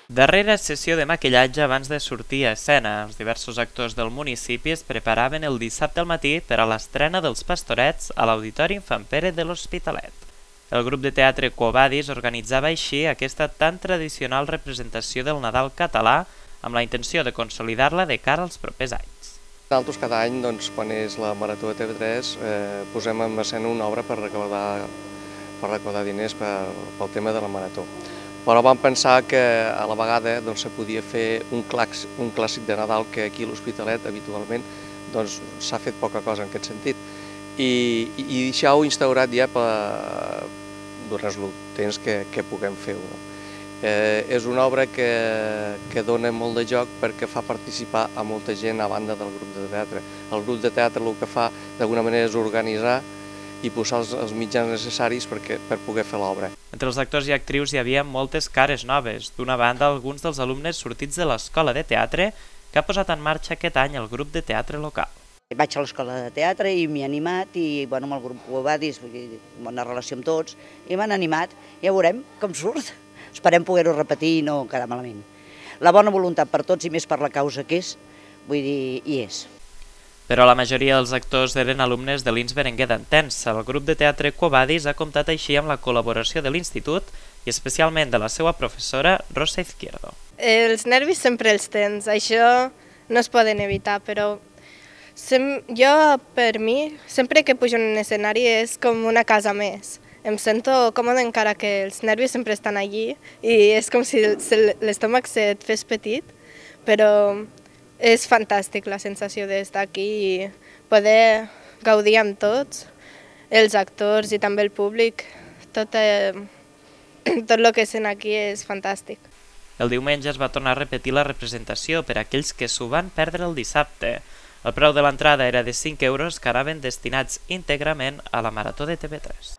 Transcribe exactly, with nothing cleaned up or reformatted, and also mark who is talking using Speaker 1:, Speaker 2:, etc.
Speaker 1: Darrera sessió de maquillatge abans de sortir a escena. Els diversos actors del municipi es preparaven el dissabte al matí per a l'estrena dels Pastorets a l'Auditori Infant Pere de l'Hospitalet. El grup de teatre Quo Vadis organitzava així aquesta tan tradicional representació del Nadal català amb la intenció de consolidar-la de cara als propers anys.
Speaker 2: Nosaltres cada any, doncs, quan és la Marató de T V tres, eh, posem en escena una obra per recaudar, per recaudar diners per, pel tema de la Marató. Però vam pensar que a la vegada doncs, se podia fer un clàssic, un clàssic de Nadal que aquí a l'Hospitalet habitualment doncs, s'ha fet poca cosa en aquest sentit. I, i, i això ho instaurat ja per, durant el temps que, que puguem fer-ho. Eh, és una obra que, que dona molt de joc perquè fa participar a molta gent a banda del grup de teatre. El grup de teatre el que fa d'alguna manera és organitzar i posar els, els mitjans necessaris perquè, per poder fer l'obra.
Speaker 1: Entre els actors i actrius hi havia moltes cares noves. D'una banda, alguns dels alumnes sortits de l'escola de teatre que ha posat en marxa aquest any el grup de teatre local.
Speaker 3: Vaig a l'escola de teatre i m'he animat i bueno, amb el grup Quo Vadis, bona relació amb tots, i m'han animat. Ja veurem com surt. Esperem poder-ho repetir i no quedar malament. La bona voluntat per tots i més per la causa que és, vull dir, hi és.
Speaker 1: Però la majoria dels actors eren alumnes de l'Ins Berenguer d'Antens. El grup de teatre Quo Vadis ha comptat així amb la col·laboració de l'institut i especialment de la seva professora Rosa Izquierdo.
Speaker 4: Els nervis sempre els tens, això no es poden evitar, però sem jo, per mi, sempre que pujo en un escenari és com una casa més. Em sento còmode encara que els nervis sempre estan allí i és com si l'estómac se't fes petit, però és fantàstic la sensació d'estar aquí i poder gaudir amb tots, els actors i també el públic. Tot, eh, tot el que sent aquí és fantàstic.
Speaker 1: El diumenge es va tornar a repetir la representació per a aquells que s'ho van perdre el dissabte. El preu de l'entrada era de cinc euros que anaven destinats íntegrament a la Marató de T V tres.